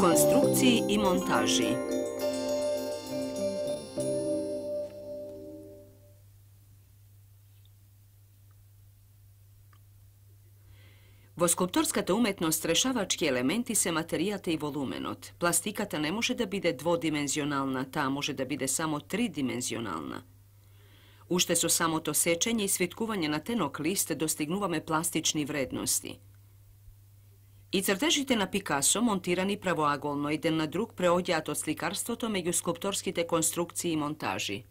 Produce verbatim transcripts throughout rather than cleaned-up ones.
Konstrukciji i montaži. Во скулпторската уметност решавачки елементи се материјата и волуменот. Пластиката не може да биде дводимензионална, таа може да биде само тридимензионална. Уште со самото сечење и свиткување на тенок лист достигнуваме пластични вредности. И цртежите на Пикасо, монтирани правоаголно еден на друг, преоѓаат од сликарството меѓу скулпторските конструкции и монтажи.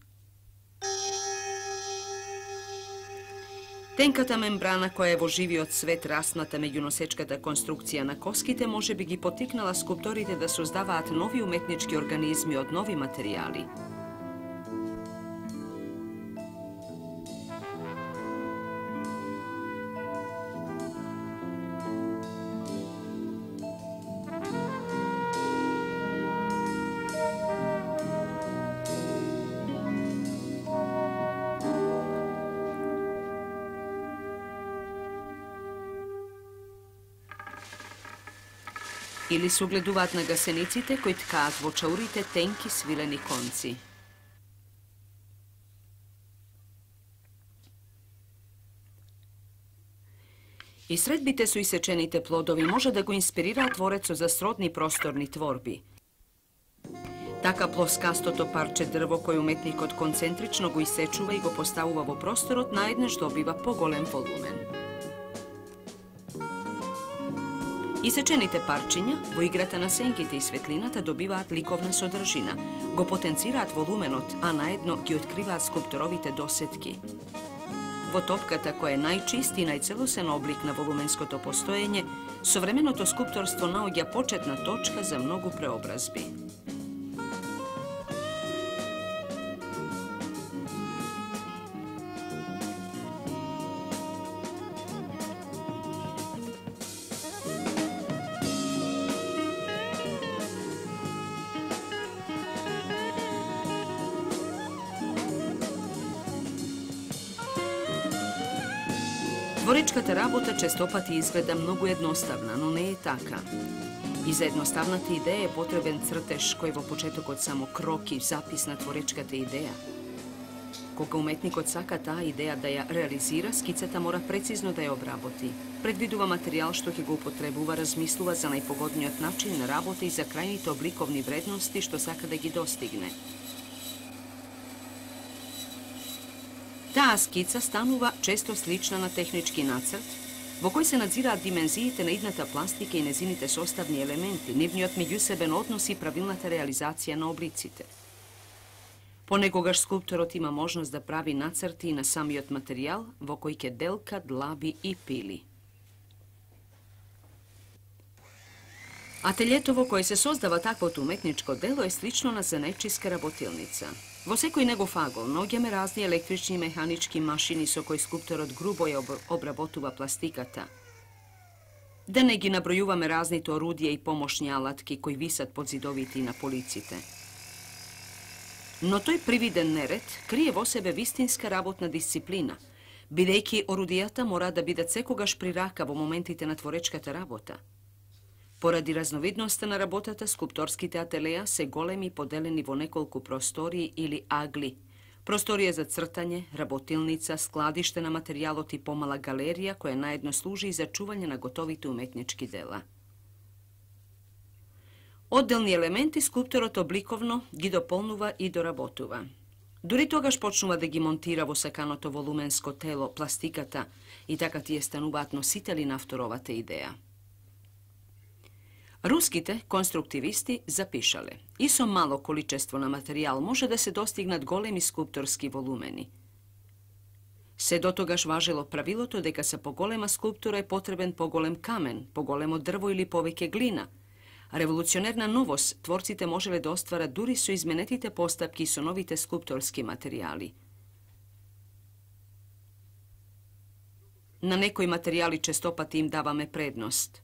Тенката мембрана која е во живиот свет расната меѓу носечката конструкција на коските може би ги потикнала скулпторите да создаваат нови уметнички организми од нови материјали. Или се огледуваат на гасениците кои ткаат во чаурите тенки свилени конци. И средбите со исечените плодови може да го инспирираат творецот за сродни просторни творби. Така плоскастото парче дрво кој уметникот концентрично го исечува и го поставува во просторот, наеднаш добива поголем волумен. Исечените парчиња во играта на сенките и светлината добиваат ликовна содржина, го потенцираат волуменот, а наедно ги откриваат скулпторовите досетки. Во топката која е најчист и најцелосен облик на волуменското постоење, современото скулпторство наоѓа почетна точка за многу преобразби. Творечката работа честопати изгледа многу едноставна, но не е така. И за едноставната идеја е потребен цртеж кој во почетокот само кроки запис на творечката идеја. Кога уметникот сака таа идеја да ја реализира, скицата мора прецизно да ја обработи. Предвидува материјал што ќе го употребува, размислува за најпогодниот начин на работа и за крајните обликовни вредности што сака да ги достигне. Таа скица станува често слична на технички нацрт, во кој се надзираат димензиите на идната пластика и незините составни елементи, нивниот меѓусебен однос и правилната реализација на облиците. Понекогаш скулпторот има можност да прави нацрти и на самиот материјал, во кој ќе делка, длаби и пили. Ателјето во кое се создава таквото уметничко дело е слично на занечиска работилница. Во секој негов агол наоѓаме разни електрични и механички машини со кои скулпторот грубо ја обработува пластиката. Да не ги набројуваме разните орудија и помошни алатки кои висат под зидовите и на полиците. Но тој привиден неред крие во себе вистинска работна дисциплина, бидејќи орудијата мора да бидат секогаш при рака во моментите на творечката работа. Поради разновидноста на работата, скулпторските ателеја се големи поделени во неколку простории или агли. Просторија за цртање, работилница, складиште на материјалот и помала галерија која наедно служи и за чување на готовите уметнички дела. Одделни елементи скулпторот обликовно ги дополнува и доработува. Дури тогаш почнува да ги монтира во саканото волуменско тело, пластиката, и така тие стануваат носители на авторовата идеја. Руските конструктивисти запишале: и со мало количество на материјал може да се достигнат големи скулпторски волумени. Се дотогаш важело правилото дека за поголема скулптура е потребен поголем камен, поголемо дрво или повеќе глина. Револуционерна новост творците можеле да остварат дури со изменетите постапки и со новите скулпторски материјали. На некои материјали честопати им даваме предност.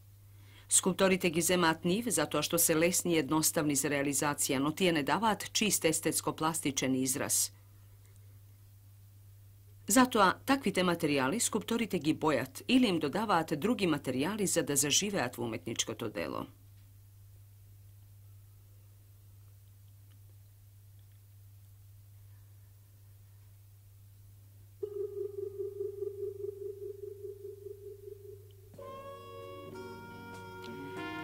Скулпторите ги земаат нив затоа што се лесни и едноставни за реализација, но тие не даваат чист естетско-пластичен израз. Затоа, таквите материјали скулпторите ги бојат или им додаваат други материјали за да заживеат во уметничкото дело.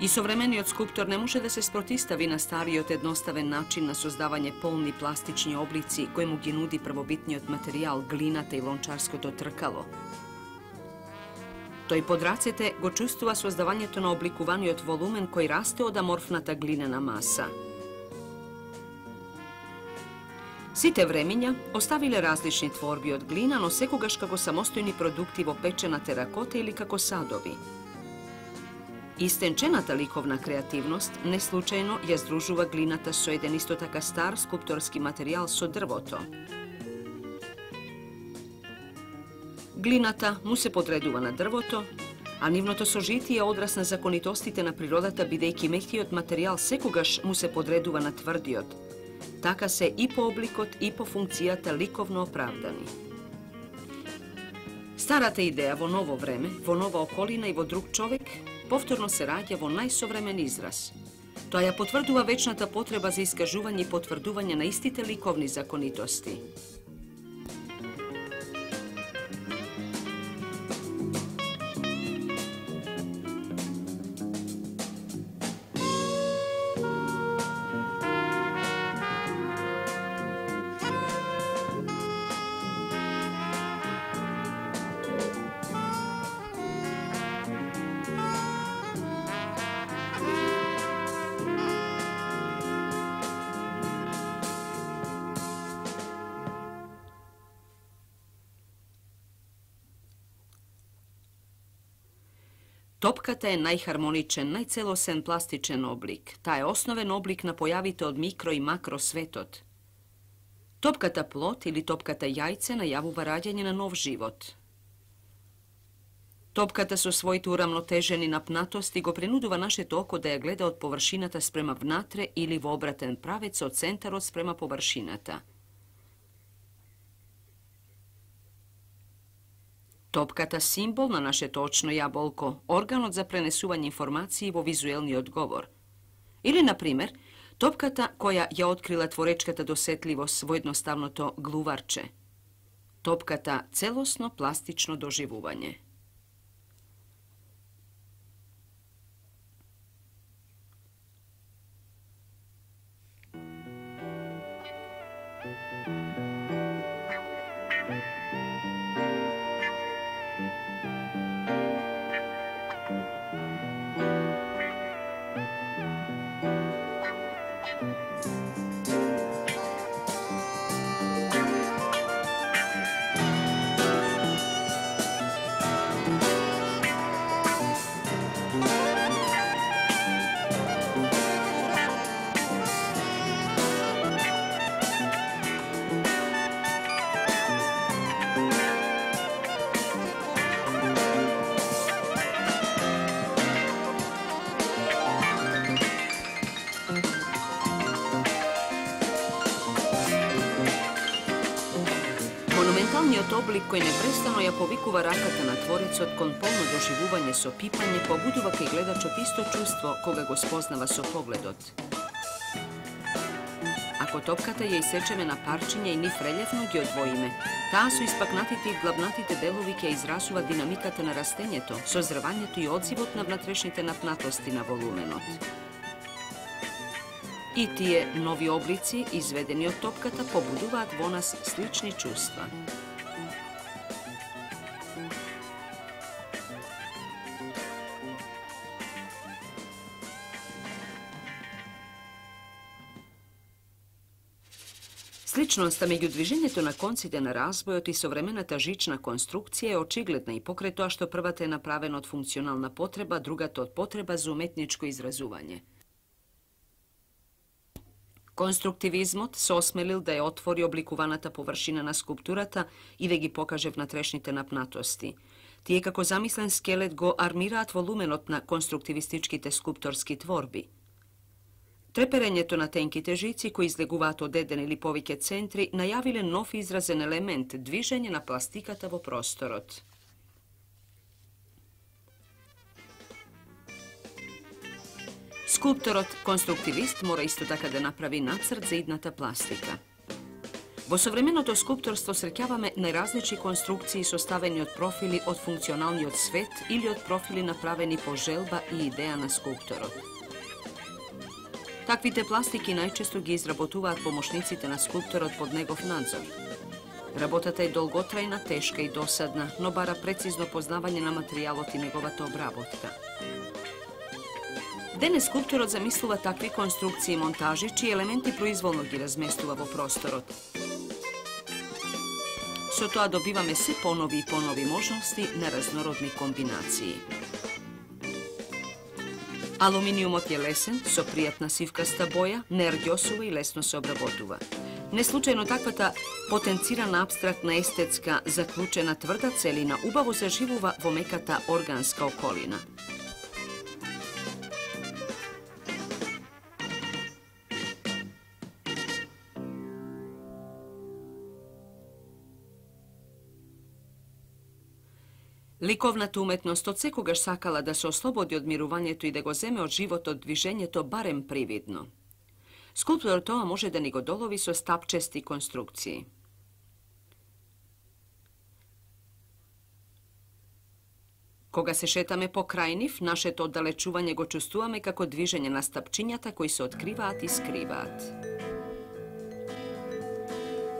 И современиот скулптор не може да се спротистави на стариот едноставен начин на создавање полни пластични облици кој му ги нуди првобитниот материјал, глината и лончарското тркало. Тој под рацете го чувствува создавањето на обликуваниот волумен кој расте од аморфната глинена маса. Сите времиња оставиле различни творби од глина, но секогаш како самостојни продукти во печена теракота или како садови. Истенчената ликовна креативност не случајно ја здружува глината со еден исто така стар скулпторски материјал со дрвото. Глината му се подредува на дрвото, а нивното сожитие е одраз на законитостите на природата, бидејќи меќиот материјал секогаш му се подредува на тврдиот. Така се и по обликот и по функцијата ликовно оправдани. Старата идеја во ново време, во нова околина и во друг човек повторно се раѓа во најсовремен израз. Тоа ја потврдува вечната потреба за искажување и потврдување на истите ликовни законитости. Топката е најхармоничен, најцелосен пластичен облик. Таа е основен облик на појавите од микро и макро светот. Топката плод или топката јајце најавува раѓање на нов живот. Топката со своите урамнотежени напнатости го принудува нашето око да ја гледа од површината спрема внатре или во обратен правец од центарот спрема површината. Топката символ на нашето очно јаболко, органот за пренесување информации во визуелниот говор. Или, например, топката која ја открила творечката досетливост во едноставното глуварче. Топката целосно пластично доживување. Монументалниот облик кој непрестано ја повикува раката на творецот кон полно доживување со пипање, побудува кај гледачот исто чувство кога го спознава со погледот. Ако топката ја исечеме на парчиња и нив релефно ги одвоиме, таа со испакнатите и главнатите делови ќе изразува динамиката на растењето, созревањето и одзивот на внатрешните напнатости на волуменот. И тие нови облици, изведени од топката, побудуваат во нас слични чувства. Сличноста меѓу движењето на конците на разбојот и современата жична конструкција е очигледна и покрај тоа што првата е направена од функционална потреба, другата од потреба за уметничко изразување. Конструктивизмот се осмелил да ја отвори обликуваната површина на скулптурата и да ги покаже внатрешните напнатости. Тие како замислен скелет го армираат волуменот на конструктивистичките скулпторски творби. Треперењето на тенките жици кои излегуваат од еден или повеќе центри најавиле нов изразен елемент, движење на пластиката во просторот. Скулпторот конструктивист мора исто така да направи нацрт за идната пластика. Во современото скулпторство среќаваме најразлични конструкции составени од профили од функционалниот свет или од профили направени по желба и идеја на скулпторот. Таквите пластики најчесто ги изработуваат помошниците на скулпторот под негов надзор. Работата е долготрајна, тешка и досадна, но бара прецизно познавање на материјалот и неговата обработка. Денес скулпторот замислува такви конструкции и монтажи, чии елементи произволно ги разместува во просторот. Со тоа добиваме се понови и понови можности на разнородни комбинации. Алуминиумот е лесен, со пријатна сивкаста боја, не арѓосува и лесно се обработува. Неслучајно таквата потенцирана апстрактна естетска заклучена тврда целина убаво заживува во меката органска околина. Ликовната уметност од секогаш сакала да се ослободи од мирувањето и да го земе од животот движењето барем привидно. Скулпторот тоа може да ни го долови со стапчести конструкции. Кога се шетаме покрај нив, нашето оддалечување го чувствуваме како движење на стапчињата кои се откриваат и скриваат.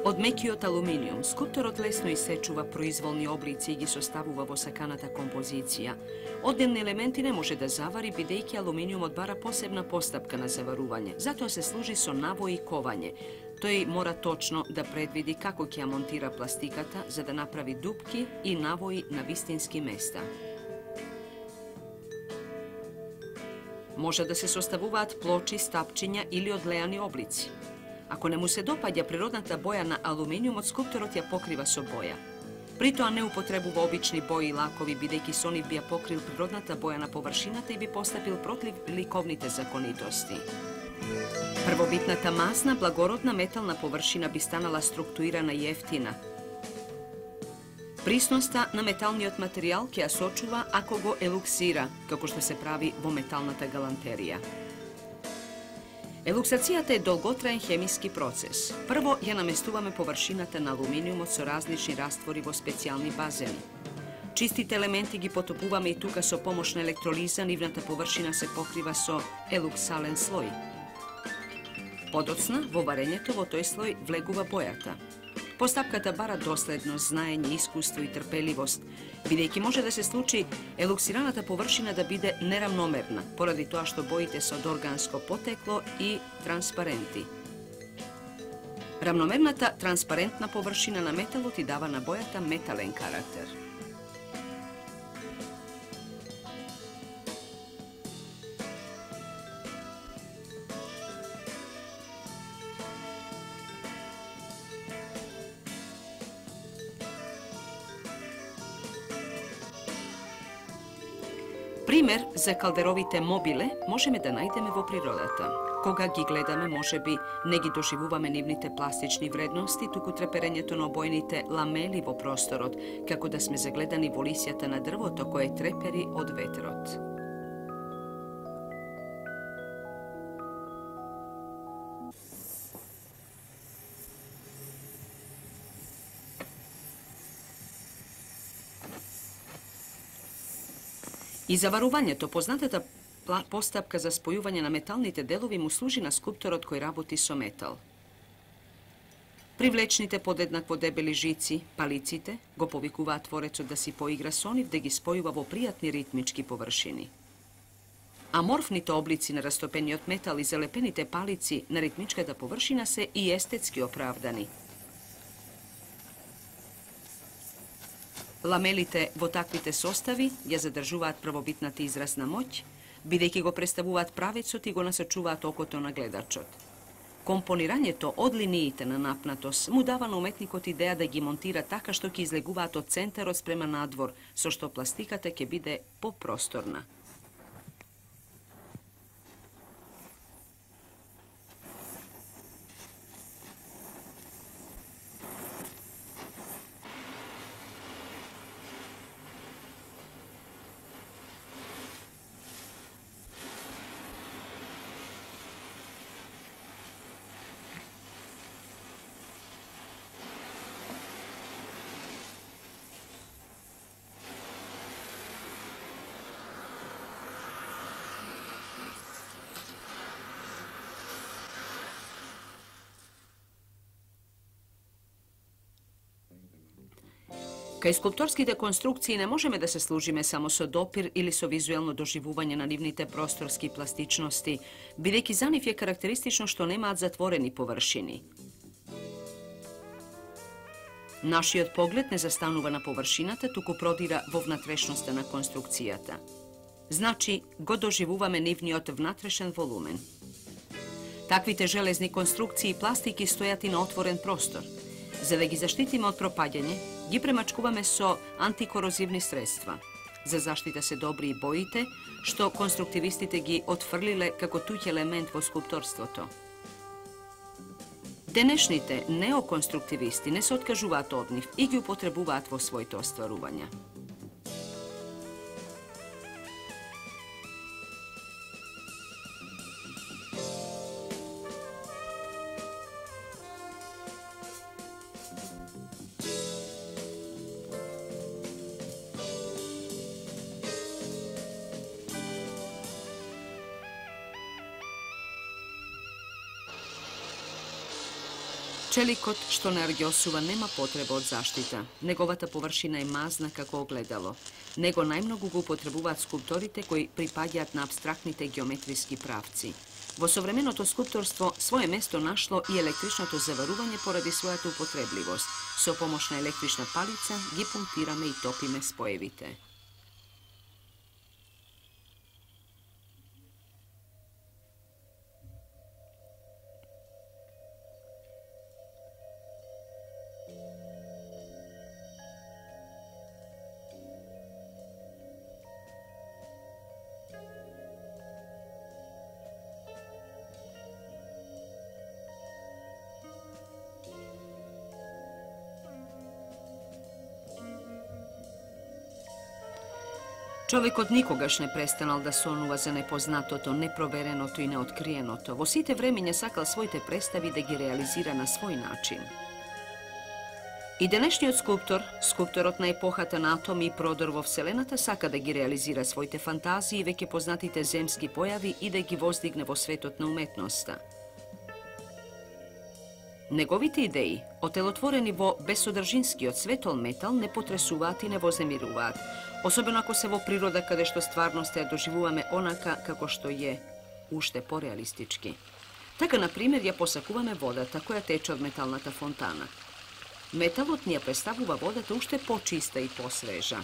Од мекиот алуминиум, скулпторот лесно исечува произволни облици и ги составува во саканата композиција. Одделни елементи не може да завари, бидејќи алуминиумот бара посебна постапка на заварување. Затоа се служи со навој и ковање. Тој мора точно да предвиди како ќе ја монтира пластиката, за да направи дупки и навои на вистински места. Може да се составуваат плочи, стапчиња или одлеани облици. Ако не му се допаѓа природната боја на алуминиумот, скулпторот ја покрива со боја. При тоа не употребува обични бои и лакови, бидејќи со нив би ја покрил природната боја на површината и би постапил против ликовните законитости. Првобитната масна, благородна метална површина би станала структурирана и ефтина. Присноста на металниот материјал ќе ја сочува ако го елуксира, како што се прави во металната галантерија. Елуксацијата е долготраен хемиски процес. Прво ја наместуваме површината на алуминиумот со различни раствори во специјални базени. Чистите елементи ги потопуваме и тука со помош на електролиза, нивната површина се покрива со елуксален слој. Подоцна, во варењето во тој слој влегува бојата. Постапката бара доследност, знаење, искуство и трпеливост, бидејќи може да се случи елуксираната површина да биде неравномерна, поради тоа што боите се од органско потекло и транспаренти. Равномерната транспарентна површина на металот и дава на бојата метален карактер. Пример за калдеровите мобиле можеме да најдеме во природата. Кога ги гледаме, можеби не ги доживуваме нивните пластични вредности, туку треперењето на обојните ламели во просторот, како да сме загледани во лисјата на дрвото кое трепери од ветрот. И заварувањето, познатата постапка за спојување на металните делови, му служи на скулпторот кој работи со метал. Привлечните подеднакво дебели жици, палиците, го повикуваат творецот да си поигра со нив, да ги спојува во пријатни ритмички површини. Аморфните облици на растопениот метал и залепените палици на ритмичката површина се и естетски оправдани. Ламелите во таквите состави ја задржуваат првобитната изразна моќ, бидејќи го представуваат правецот и го насочуваат окото на гледачот. Компонирањето од линиите на напнатост му дава на уметникот идеја да ги монтира така што ќе излегуваат од центарот спрема надвор, со што пластиката ќе биде попросторна. Кај скулпторските конструкции не можеме да се служиме само со допир или со визуелно доживување на нивните просторски пластичности, бидејќи за нив е карактеристично што немаат затворени површини. Нашиот поглед не застанува на површината, туку продира во внатрешноста на конструкцијата. Значи, го доживуваме нивниот внатрешен волумен. Таквите железни конструкции и пластики стојат и на отворен простор. За да ги заштитиме од пропаѓање, ги премачкуваме со антикорозивни средства. За заштита се добри и боите, што конструктивистите ги отфрлиле како туѓ елемент во скулпторството. Денешните неоконструктивисти не се откажуваат од нив и ги употребуваат во своите остварувања. Челикот што не арѓосува нема потреба од заштита. Неговата површина е мазна како огледало. Него најмногу го употребуваат скулпторите кои припаѓаат на апстрактните геометриски правци. Во современото скулпторство свое место нашло и електричното заварување поради својата употребливост. Со помош на електрична палица ги пунктираме и топиме споевите. Човекот никогаш не престанал да сонува за непознатото, непровереното и неоткриеното. Во сите времиња сакал своите представи да ги реализира на свој начин. И денешниот скулптор, скулпторот на епохата на атоми и продор во Вселената, сака да ги реализира своите фантазии, веќе познатите земски појави и да ги воздигне во светот на уметноста. Неговите идеи, отелотворени во безсодржинскиот светол метал, не потресуваат и не вознемируваат, особено ако се во природа каде што стварноста ја доживуваме онака како што е, уште пореалистички. Така, например, ја посакуваме водата која тече од металната фонтана. Металот ни ја представува водата уште почиста и посвежа.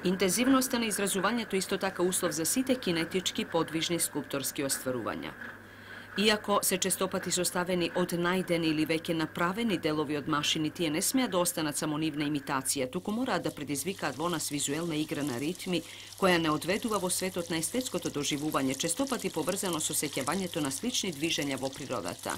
Интензивноста на изразувањето исто така услов за сите кинетички подвижни скулпторски остварувања. Иако се честопати составени од најдени или веќе направени делови од машини, тие не смеат да останат само нивна имитација, туку мораат да предизвикаат во нас визуелна игра на ритми, која не одведува во светот на естетското доживување, честопати поврзано со сеќавањето на слични движења во природата.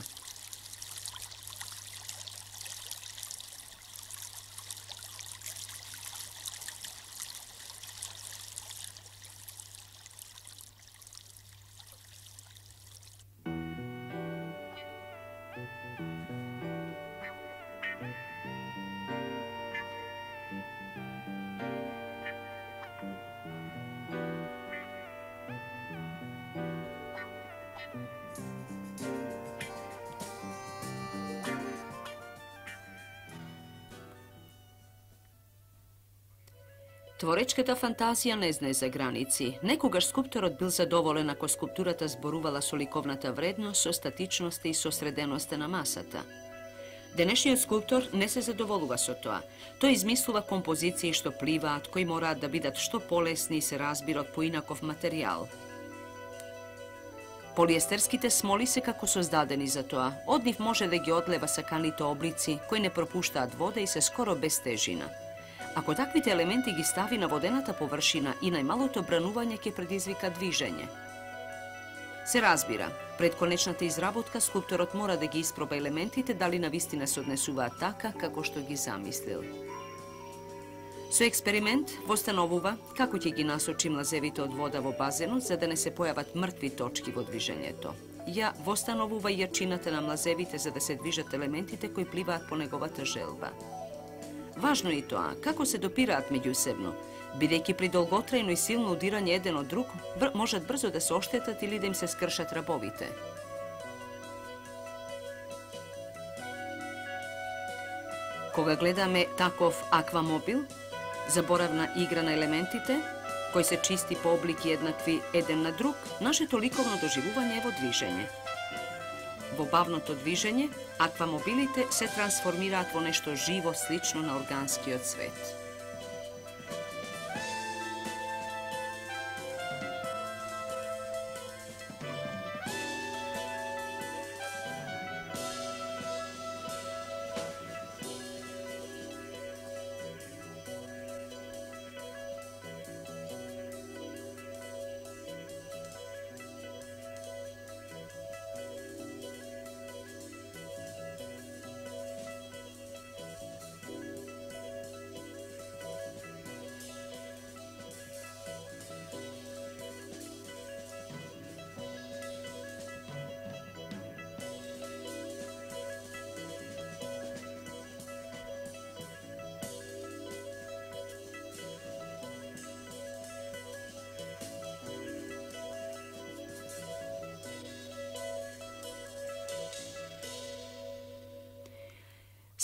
Творечката фантазија не знае за граници. Некогаш скулпторот бил задоволен ако скулптурата зборувала со ликовната вредност, со статичноста и со среденоста на масата. Денешниот скулптор не се задоволува со тоа. Тој измислува композиции што пливаат, кои мораат да бидат што полесни и се разбират по инаков материјал. Полиестерските смоли се како создадени за тоа. Од нив може да ги одлева саканите облици, кои не пропуштаат вода и се скоро без тежина. Ако таквите елементи ги стави на водената површина и најмалото бранување ќе предизвика движење. Се разбира, пред конечната изработка скулпторот мора да ги испроба елементите дали навистина се однесуваат така како што ги замислил. Со експеримент востановува како ќе ги насочи млазевите од вода во базенот за да не се појават мртви точки во движењето. Ја востановува јачината на млазевите за да се движат елементите кои пливаат по неговата желба. Важно е и тоа, како се допираат меѓусебно, бидејќи при долготрајно и силно удирање еден од друг, бр можат брзо да се оштетат или да им се скршат рабовите. Кога гледаме таков аквамобил, заборавна игра на елементите, кој се чисти по облики еднакви еден на друг, нашето ликовно доживување е во движење. Во бавното движење, аквамобилите се трансформираат во нешто живо, слично на органскиот свет.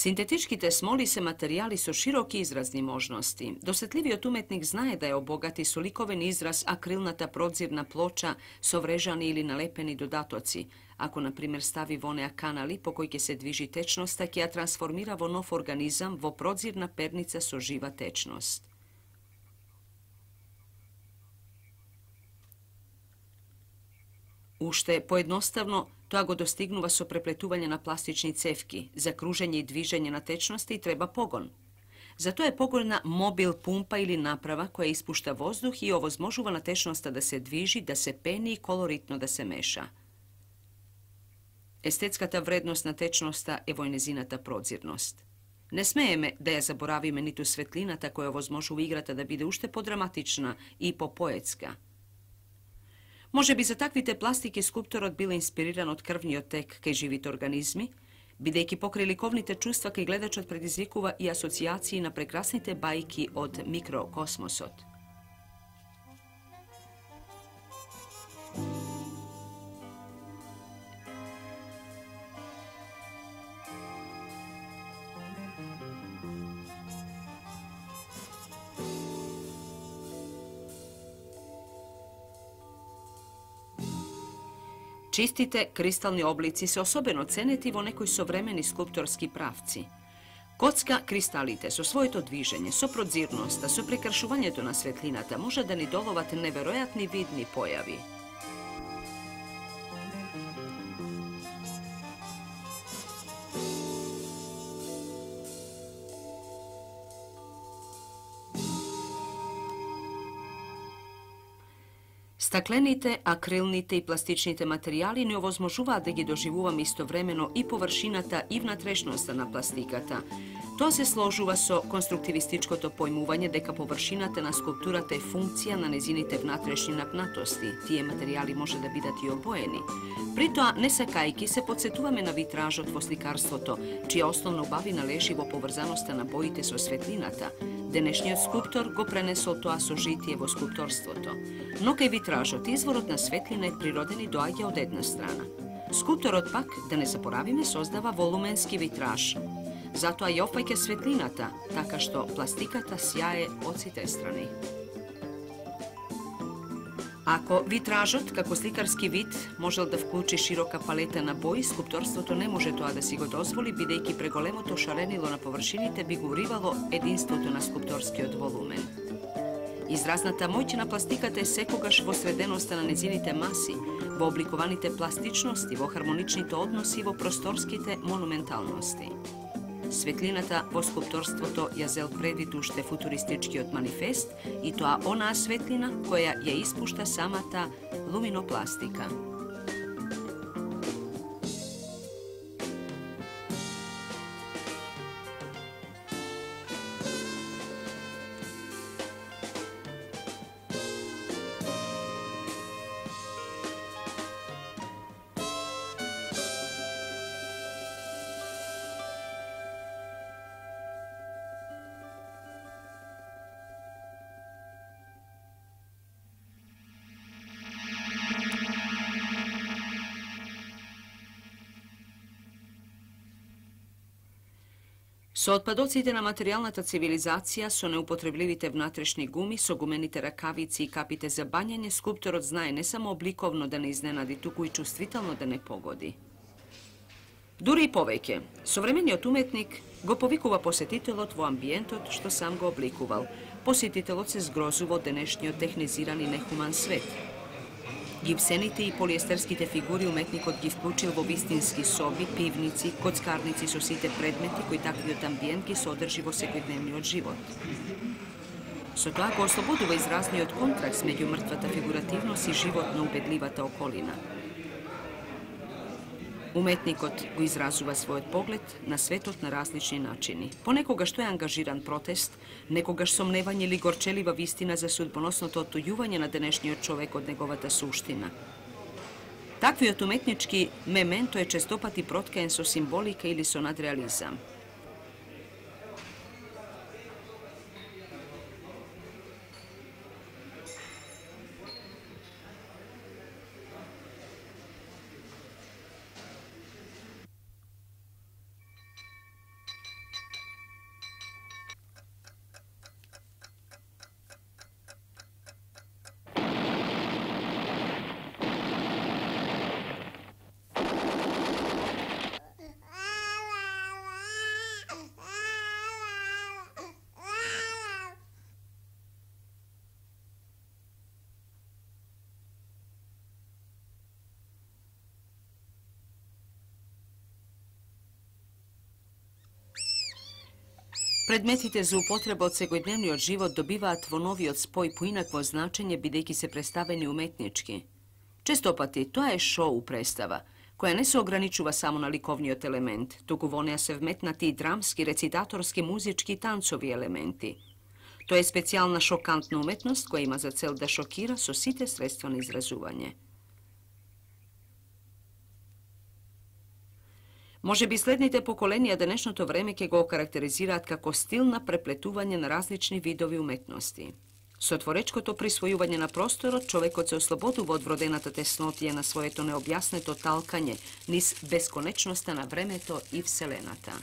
Синтетичките смоли се материјали со широки изразни можности. Досетливиот уметник знае да ја обогати со ликовен израз акрилната продзирна плоча со врежани или налепени додатоци. Ако, на пример, стави во неа канали по кои ќе се движи течноста, ќе ја трансформира во нов организам во продзирна перница со жива течност. Уште поедноставно, тоа го достигнува со преплетување на пластични цевки. За кружење и движење на течности треба погон. Затоа е погонна мобил пумпа или направа која испушта воздух и овозможува на течноста да се движи, да се пени и колоритно да се меша. Естетската вредност на течноста е во незината продзирност. Не смееме да ја заборавиме ниту светлината која овозможува играта да биде уште подраматична и попоетска. Може би за таквите пластики скулпторот бил инспириран од крвниот тек кај живите организми, бидејќи покрај ликовните чувства кај гледачот предизвикува и асоциации на прекрасните бајки од микрокосмосот. Чистите кристални облици се особено ценети во некои современи скулпторски правци. Коцка кристалите со своето движење, со продзирноста, со прекршувањето на светлината може да ни доловат неверојатни видни појави. Стаклените, акрилните и пластичните материјали ни овозможуваат да ги доживуваме истовремено и површината и внатрешноста на пластиката. Тоа се сложува со конструктивистичкото појмување дека површината на скулптурата е функција на незините внатрешни напнатости. Тие материјали може да бидат и обоени. При тоа, не сакајки, се подсетуваме на витражот во сликарството, чија основна убавина лежи во поврзаноста на боите со светлината. Денешниот скулптор го пренесол тоа со житие во скулпторството. Но кај витражот изворот на светлина е природен и доаѓа од една страна. Скулпторот пак, да не заборавиме, создава волуменски витраж. затоа и опфаќа светлината, така што пластиката сјае од сите страни. Ако витражот, како сликарски вид, можел да вклучи широка палета на бои, скулпторството не може тоа да си го дозволи, бидејќи преголемото шаренило на површините би го уривало единството на скулпторскиот волумен. Изразната моќ на пластиката е секогаш во среденоста на незините маси, во обликуваните пластичности, во хармоничните односи и во просторските монументалности. Светлината во скулпторството ја зел предвид уште футуристичкиот манифест и тоа онаа светлина која ја испушта самата луминопластика. Со отпадоците на материјалната цивилизација, со неупотребливите внатрешни гуми, со гумените ракавици и капите за бањање, скулпторот знае не само обликовно да не изненади, туку и чувствително да не погоди. Дури и повеќе, современиот уметник го повикува посетителот во амбиентот што сам го обликувал. Посетителот се згрозува од денешниот технизиран и нехуман свет. Гипсените и полиестерските фигури уметникот ги вклучил во вистински соби, пивници, коцкарници со сите предмети кои таквиот амбиент ги содржи во секојдневниот живот. Со тоа го ослободува изразниот контраст меѓу мртвата фигуративност и животно убедливата околина. Уметникот го изразува својот поглед на светот на различни начини. Понекогаш тој е ангажиран протест, некогаш сомневање или горчелива вистина за судбоносното оттуѓување на денешниот човек од неговата суштина. Таквиот уметнички мементо е честопати проткаен со символика или со надреализам. Предметите за употреба од секојдневниот живот добиваат во новиот спој поинакво значење бидејќи се представени уметнички. Честопати тоа е шоу представа, која не се ограничува само на ликовниот елемент, туку во неа се вметнати и драмски, рецитаторски, музички и танцови елементи. Тоа е специјална шокантна уметност која има за цел да шокира со сите средства на изразување. Може би следните поколенија денешното време ќе го окарактеризираат како стил на преплетување на различни видови уметности. Со творечкото присвојување на просторот, човекот се ослободува од вродената теснотија на своето необјаснето талкање низ бесконечноста на времето и вселената.